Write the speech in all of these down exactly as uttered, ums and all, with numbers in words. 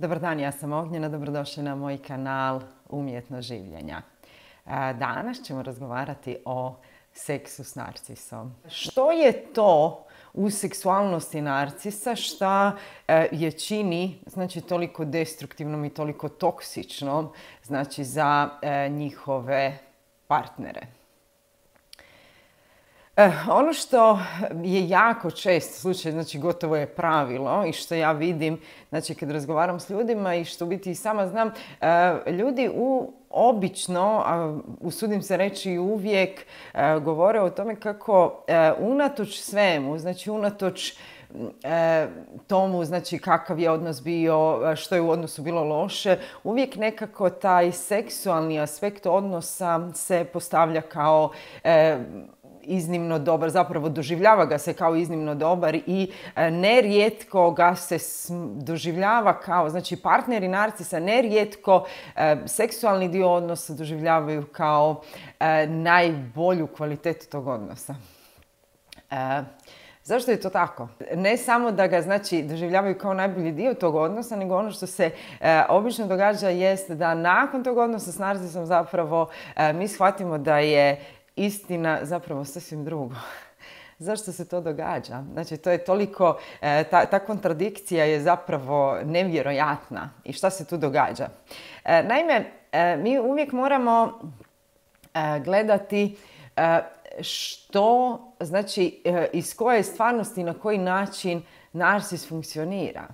Dobar dan, ja sam Ognjena, dobrodošli na moj kanal Umjetnost življenja. Danas ćemo razgovarati o seksu s narcisom. Što je to u seksualnosti narcisa šta je čini znači, toliko destruktivnom i toliko toksičnom znači, za njihove partnere? Ono što je jako čest slučaj, znači gotovo je pravilo i što ja vidim, znači kad razgovaram s ljudima i što u biti i sama znam, ljudi u obično, usudim se reći i uvijek, govore o tome kako unatoč svemu, znači unatoč tomu, znači kakav je odnos bio, što je u odnosu bilo loše, uvijek nekako taj seksualni aspekt odnosa se postavlja kao iznimno dobar, zapravo doživljava ga se kao iznimno dobar i nerijetko ga se doživljava kao, znači partneri narcisa nerijetko seksualni dio odnosa doživljavaju kao najbolju kvalitetu tog odnosa. Zašto je to tako? Ne samo da ga znači doživljavaju kao najbolji dio tog odnosa, nego ono što se e, obično događa jest da nakon tog odnosa s narcisom zapravo e, mi shvatimo da je istina zapravo sasvim drugo. Zašto se to događa? Znači, to je toliko, e, ta, ta kontradikcija je zapravo nevjerojatna. I šta se tu događa? E, naime, e, mi uvijek moramo e, gledati e, što, znači, e, iz koje stvarnosti, na koji način narcis funkcionira.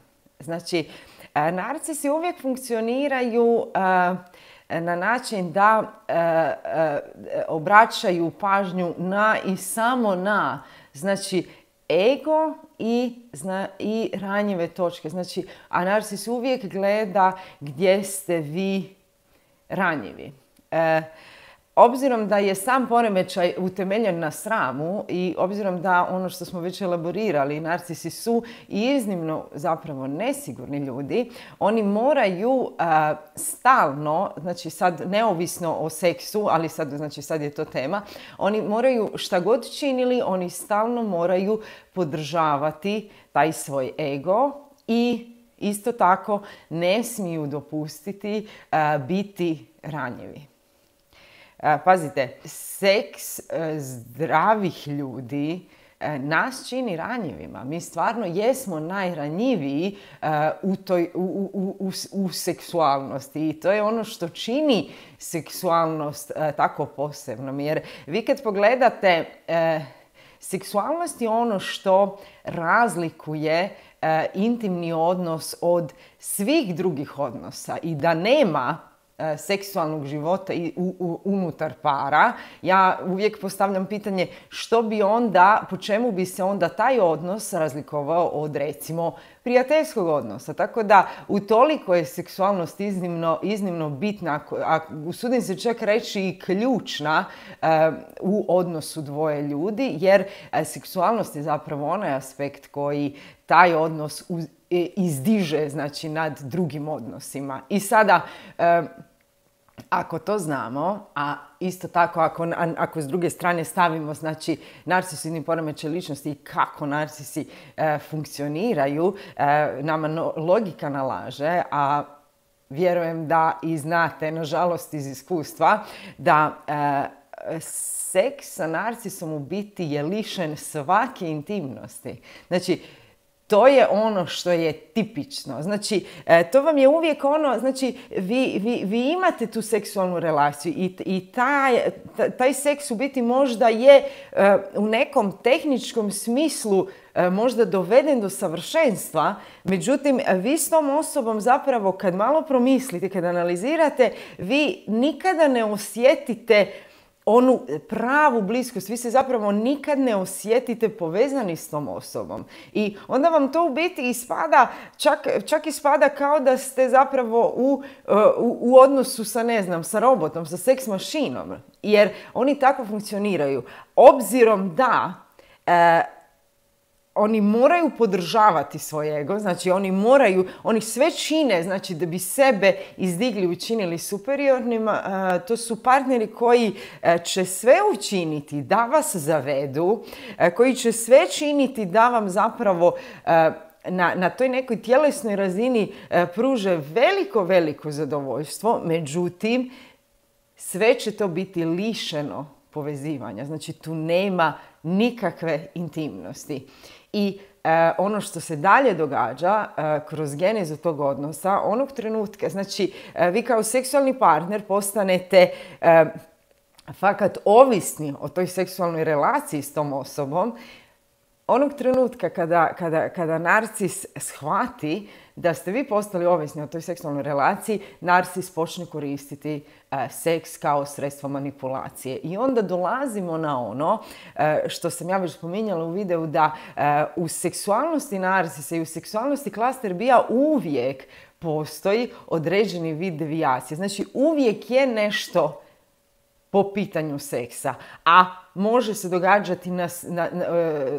Znači, e, narcisi uvijek funkcioniraju e, na način da e, e, obraćaju pažnju na i samo na, znači, ego i, zna, i ranjive točke. Znači, a narcis uvijek gleda gdje ste vi ranjivi. E, Obzirom da je sam poremećaj utemeljen na sramu i obzirom da ono što smo već elaborirali, narcisi su iznimno zapravo nesigurni ljudi, oni moraju uh, stalno, znači sad neovisno o seksu, ali sad, znači sad je to tema, oni moraju šta god činili, oni stalno moraju podržavati taj svoj ego i isto tako ne smiju dopustiti uh, biti ranjivi. Pazite, seks zdravih ljudi nas čini ranjivima. Mi stvarno jesmo najranjiviji u, toj, u, u, u, u seksualnosti i to je ono što čini seksualnost tako posebnom. Jer vi kad pogledate, seksualnost je ono što razlikuje intimni odnos od svih drugih odnosa i da nema seksualnog života i u, u, unutar para, ja uvijek postavljam pitanje što bi onda, po čemu bi se onda taj odnos razlikovao od recimo prijateljskog odnosa. Tako da utoliko je seksualnost iznimno, iznimno bitna, a usudim se čak reći i ključna uh, u odnosu dvoje ljudi, jer uh, seksualnost je zapravo onaj aspekt koji taj odnos uz, izdiže, znači, nad drugim odnosima. I sada, e, ako to znamo, a isto tako ako, ako s druge strane stavimo, znači, narcisoidni poremećaj ličnosti i kako narcisi e, funkcioniraju, e, nama no, logika nalaže, a vjerujem da i znate, nažalost iz iskustva, da e, seks sa narcisom u biti je lišen svake intimnosti. Znači, to je ono što je tipično. Znači, to vam je uvijek ono, znači, vi, vi, vi imate tu seksualnu relaciju i, i taj, taj seks u biti možda je u nekom tehničkom smislu možda doveden do savršenstva, međutim, vi s tom osobom zapravo kad malo promislite, kad analizirate, vi nikada ne osjetite onu pravu bliskost, vi se zapravo nikad ne osjetite povezani s tom osobom. I onda vam to u biti ispada, čak, čak ispada kao da ste zapravo u, u, u odnosu sa, ne znam, sa robotom, sa seks mašinom. Jer oni tako funkcioniraju. Obzirom da e, oni moraju podržavati svoj ego, znači oni moraju, oni sve čine, znači da bi sebe izdigli i učinili superiornima, to su partneri koji će sve učiniti da vas zavedu, koji će sve činiti da vam zapravo na, na toj nekoj tjelesnoj razini e, pruže veliko, veliko zadovoljstvo, međutim, sve će to biti lišeno povezivanja. Znači, tu nema nikakve intimnosti. I e, ono što se dalje događa e, kroz genezu tog odnosa, onog trenutka, znači, e, vi kao seksualni partner postanete e, fakat ovisni o toj seksualnoj relaciji s tom osobom, onog trenutka kada, kada, kada narcis shvati da ste vi postali ovisni o toj seksualnoj relaciji, narcis počne koristiti uh, seks kao sredstvo manipulacije. I onda dolazimo na ono uh, što sam ja već spominjala u videu, da uh, u seksualnosti narcisa i u seksualnosti klaster bija uvijek postoji određeni vid devijacije. Znači, uvijek je nešto po pitanju seksa, a može se događati na, na, na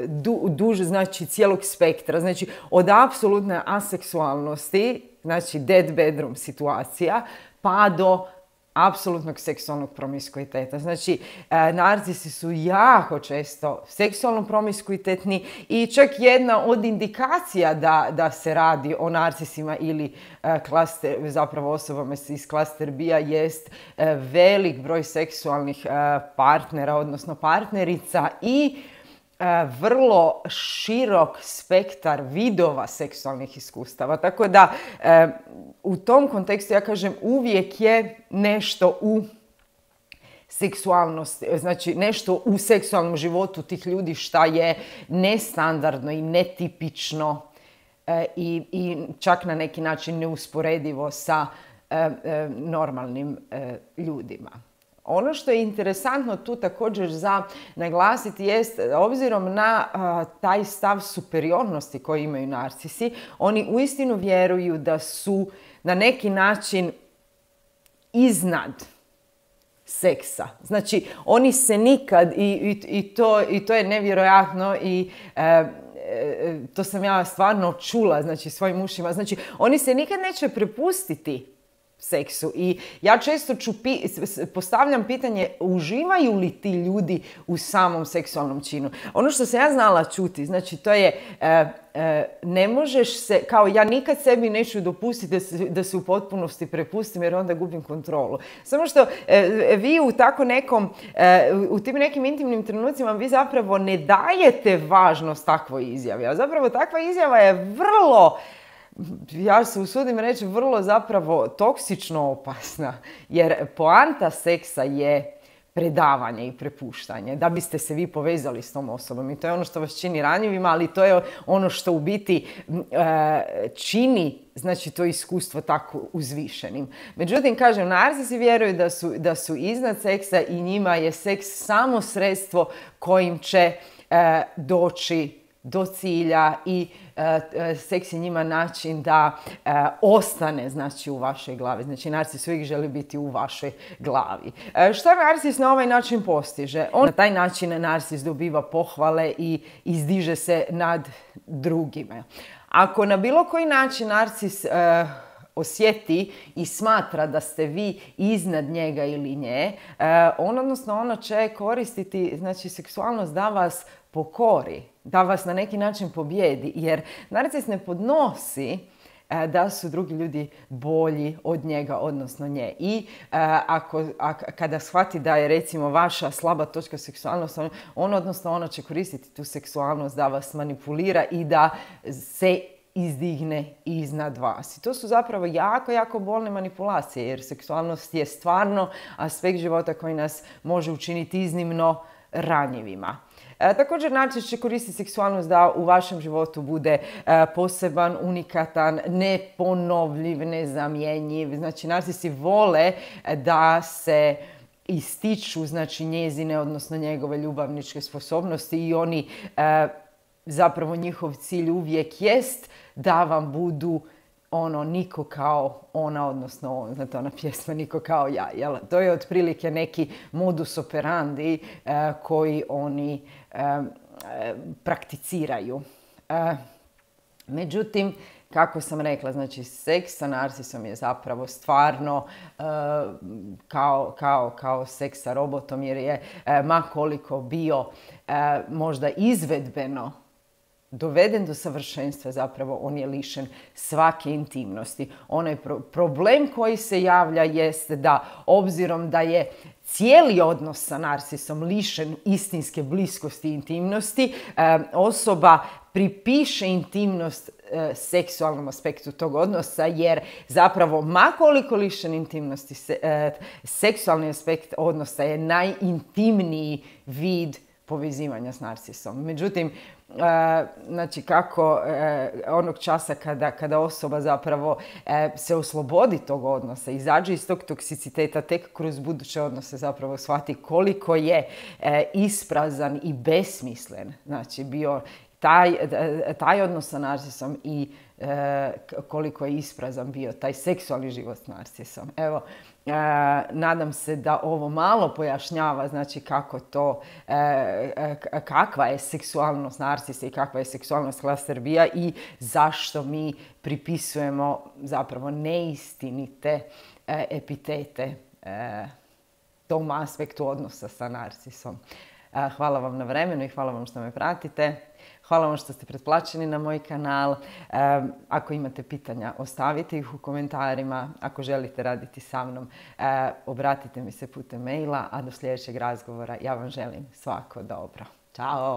du, duže, znači cijelog spektra, znači od apsolutne aseksualnosti, znači dead bedroom situacija, pa do apsolutnog seksualnog promiskuiteta. Znači, e, narcisi su jako često seksualno promiskuitetni i čak jedna od indikacija da, da se radi o narcisima ili e, klaster, zapravo osobama iz klaster B-a jest e, velik broj seksualnih e, partnera, odnosno partnerica i vrlo širok spektar vidova seksualnih iskustava. Tako da e, u tom kontekstu ja kažem uvijek je nešto u seksualnosti, znači nešto u seksualnom životu tih ljudi šta je nestandardno i netipično e, i, i čak na neki način neusporedivo sa e, e, normalnim e, ljudima. Ono što je interesantno tu također za naglasiti jest, obzirom na a, taj stav superiornosti koji imaju narcisi, oni uistinu vjeruju da su na neki način iznad seksa. Znači, oni se nikad, i, i, i, to, i to je nevjerojatno i e, e, to sam ja stvarno čula, znači, svojim ušima, znači, oni se nikad neće prepustiti seksu. I ja često ću pi- postavljam pitanje, uživaju li ti ljudi u samom seksualnom činu? Ono što sam ja znala čuti, znači to je e, e, ne možeš se, kao ja nikad sebi neću dopustiti da se, da se u potpunosti prepustim jer onda gubim kontrolu. Samo što e, vi u tako nekom, e, u tim nekim intimnim trenucima vi zapravo ne dajete važnost takvoj izjavi. A zapravo takva izjava je vrlo, ja se usudim reći, vrlo zapravo toksično opasna, jer poanta seksa je predavanje i prepuštanje, da biste se vi povezali s tom osobom. I to je ono što vas čini ranjivima, ali to je ono što u biti e, čini, znači, to iskustvo tako uzvišenim. Međutim, kažem, narcisi vjeruju da su, da su iznad seksa i njima je seks samo sredstvo kojim će e, doći do cilja i e, seks je njima način da e, ostane, znači, u vašoj glavi. Znači, narcis uvijek želi biti u vašoj glavi. E, šta narcis na ovaj način postiže? On na taj način narcis dobiva pohvale i izdiže se nad drugime. Ako na bilo koji način narcis e, osjeti i smatra da ste vi iznad njega ili nje, e, on, odnosno ona će koristiti, znači, seksualnost da vas pokori, da vas na neki način pobjedi, jer narcis ne podnosi e, da su drugi ljudi bolji od njega, odnosno nje. I e, ako, a, kada shvati da je, recimo, vaša slaba točka seksualnost, on, on, odnosno ona će koristiti tu seksualnost da vas manipulira i da se izdigne iznad vas. I to su zapravo jako, jako bolne manipulacije, jer seksualnost je stvarno aspekt života koji nas može učiniti iznimno ranjivima. E, također, narcis će koristiti seksualnost da u vašem životu bude e, poseban, unikatan, neponovljiv, nezamjenjiv. Znači, narcisi vole da se ističu, znači, njezine, odnosno njegove ljubavničke sposobnosti i oni, e, zapravo njihov cilj uvijek jest da vam budu ono, niko kao ona, odnosno on, znate, ona pjesma Niko kao ja, jel? To je otprilike neki modus operandi e, koji oni e, e, prakticiraju. E, međutim, kako sam rekla, znači, seks sa narcisom je zapravo stvarno e, kao, kao, kao seks sa robotom, jer je, e, ma koliko bio e, možda izvedbeno doveden do savršenstva, zapravo on je lišen svake intimnosti. Onaj pro- problem koji se javlja jeste da, obzirom da je cijeli odnos sa narcisom lišen istinske bliskosti i intimnosti, e, osoba pripiše intimnost e, seksualnom aspektu tog odnosa, jer zapravo makoliko lišen intimnosti, se, e, seksualni aspekt odnosa je najintimniji vid povezivanja s narcisom. Međutim, e, znači kako e, onog časa kada, kada osoba zapravo e, se oslobodi tog odnosa, izađe iz tog toksiciteta, tek kroz buduće odnose zapravo shvati koliko je e, isprazan i besmislen, znači bio taj, taj odnos sa narcisom i e, koliko je isprazan bio taj seksualni život s narcisom. Evo, e, nadam se da ovo malo pojašnjava, znači kako to, e, kakva je seksualnost narcisa i kakva je seksualnost klaster B-a i zašto mi pripisujemo zapravo neistinite e, epitete e, tom aspektu odnosa sa narcisom. E, hvala vam na vremenu i hvala vam što me pratite. Hvala vam što ste pretplaćeni na moj kanal. E, ako imate pitanja, ostavite ih u komentarima. Ako želite raditi sa mnom, e, obratite mi se putem maila, a do sljedećeg razgovora ja vam želim svako dobro. Ćao!